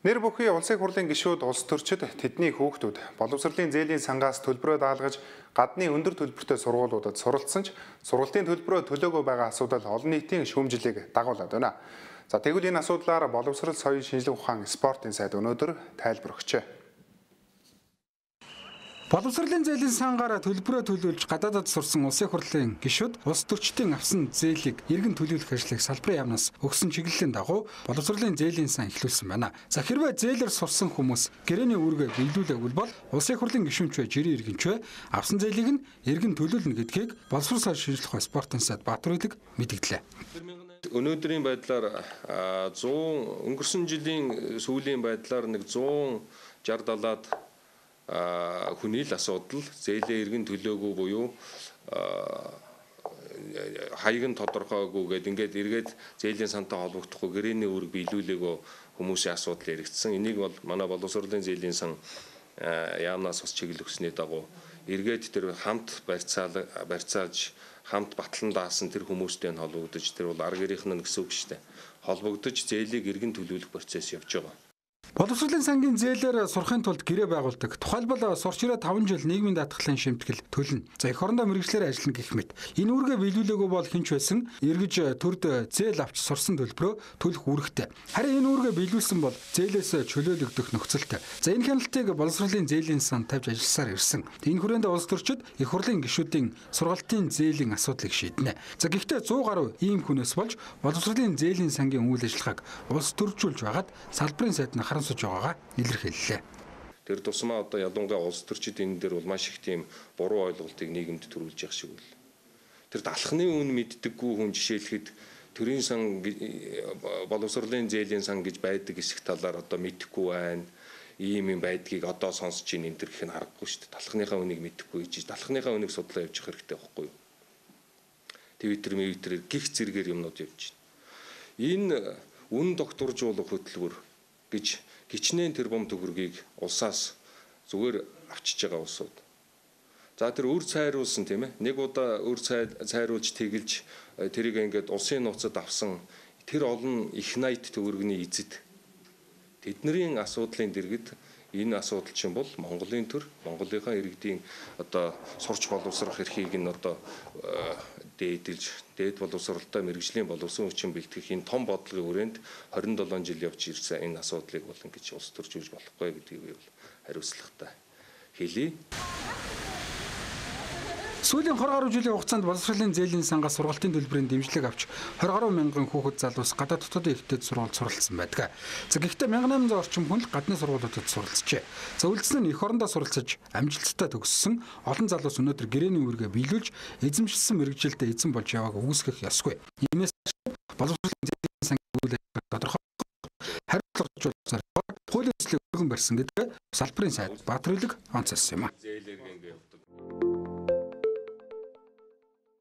Нэр бүхий улсын хурлын гишүүд улс төрчид тэдний хүүхдүүд боловсролын зээлийн сангаас төлбөрөө даалгаж гадны өндөр төлбөртэй сургуулиудад суралцсан ч сургалтын төлбөрөө төлөөгүй байгаа асуудал олон нийтийн шүүмжлэлийг дагуулад байна. За тэгвэл энэ асуудлаар боловсрол соёлын шинжилгээ ухаан спортын сайд өнөөдөр тайлбар өгчээ. Боловсролын зээлийн сангаараа төлбөрөө төлөвлөж гадаадад сурсан улсын хурлын гишүүд улс төрчдийн авсан зээлийг иргэн төлөвлөх ажлыг салбарын яамнаас өгсөн чиглэлийн дагуу боловсролын зээлийн сан эхлүүлсэн байна. За хэрвээ зээлээр сурсан хүмүүс гэрээний үүргээ биелүүлээгүй бол улсын хурлын гишүүнч жирийн иргэнч авсан зээлийг нь иргэн төлөвлөнө гэдгийг боловсрол соёлын шинжилгээ ухаан спортын сайд Баатар-Улиг мэдгдлээ. Өнөөдрийн байдлаар 100 өнгөрсөн жилийн сүүлийн байдлаар нэг 160-70-аад хүний л асуудал зээлээ иргэн төлөөгүй буюу хаяг нь тодорхойгүй гэдэг ингээд эргээд зээлийн сантай холбогдохгүй гэрээний үүрэг биелүүлээгөө хүмүүсийн асуудал яригдсан. Энийг бол манай боловсролын зээлийн сан яамнаас бас чиглэл өгсөний дагуу эргээд тэр хамт барьцаалж хамт батлан даасан тэр хүмүүстэй нь холбогдож тэр бол арга гэрийнх нь гэсэн үг шүү дээ. Холбогдож зээлийг иргэн төлөвлөх процесс явж байгаа. Боловсролын сангийн зээлээр сурахын тулд гэрээ байгуулдаг. Тухайлбал сурч ирээ 5 жил нийгмийн даатгалын шимтгэл төлнө. За эх орондоо мэргэжлэр ажиллана гэх мэт. Энэ үүргээ биелүүлээгүй бол хинч байсан эргэж төрд зээл авч сурсан төлбөрөө төлөх үүрэгтэй. Харин энэ үүргээ биелүүлсэн бол зээлээс чөлөөлөгдөх нөхцөлтэй. За энэ хяналтыг боловсролын зээлийн сан тавьж ажилласаар ирсэн. Энэ хүрээнд улс төрчид эх хурлын гишүүдийн сургалтын зээлийн асуудлыг шийднэ. За гэхдээ 100 гаруй ийм хүнээс болж боловсролын зээлийн сангийн үйл ажиллагааг улс төржүүлж байгаад салбарын сайд нь харамсаж байгаагаа илэрхийллээ. Тэр тусмаа одоо ядуунгаа улс төрчид энэ дээр бол маш их тийм буруу ойлголтыг нийгэмд төрүүлж явах шиг үл. Тэр далхны үн мэддэггүй хүн жишээлхэд төрийн сан боловсролын зээлийн сан гэж байдаг хэсэг талаар одоо мэдэхгүй байна. Ийм юм байдгийг одоо сонсож ийн энэ төр гэх нь харахгүй шүү дээ. Далхныхаа үнийг мэдэхгүй гэж далхныхаа үнийг судлаа явж явах хэрэгтэй байхгүй юу? Твиттер гих зэрэгээр юмнууд явж байна. Энэ үн докторжуулах хөтөлбөр гэж гичнээн тэрбум төгрөгийг улсаас зүгээр авчиж байгаа улсууд. За тэр үр цайруулсан тийм ээ. Нэг удаа үр цайруулж тэгэлж тэрийг ингээд улсын нууцад авсан тэр олон их найт төгрөгний эзэд тэдний асуудлын дэргэд энэ асуудал чинь бол Монголын төр Монголынхаа иргэдийн одоо сурч боловсрох эрхийг нь одоо дээд боловсролтой мэргэжлийн боловсон хүчин бэлтгэх энэ том бодлогын хүрээнд 27 жил явж ирсэн энэ асуудлыг бол ингэж улс төржүүлж болохгүй гэдгийг би бол хариуцлагатай хэлье. Сүүлийн 20 гаруй жилийн хугацаанд боловсролын зээлийн сангаас сургалтын төлбөрийн дэмжлэг авч 20 гаруй мянган хүүхэд залуус гадаад дотоодын ихтэйд сургуульд суралцсан байдаг. За гэхдээ 1800 орчим хүн л гадны сургуулиудад суралцжээ. За үлдсэн нь эх орондоо суралцаж амжилттай төгссөн олон залуус өнөөдөр гэрээний үүргээ биелүүлж эзэмшилсэн мэргэжилтэд эзэн болж явааг үүсгэх ёсгүй. Иймээс боловсролын зээлийн сангийн үйл ажиллагааг тодорхой хариуцлагажуулсаар хуулийн төслийг өргөн барьсан гэдэг салбарын сайд Баатар-Улиг онцолсон юм а.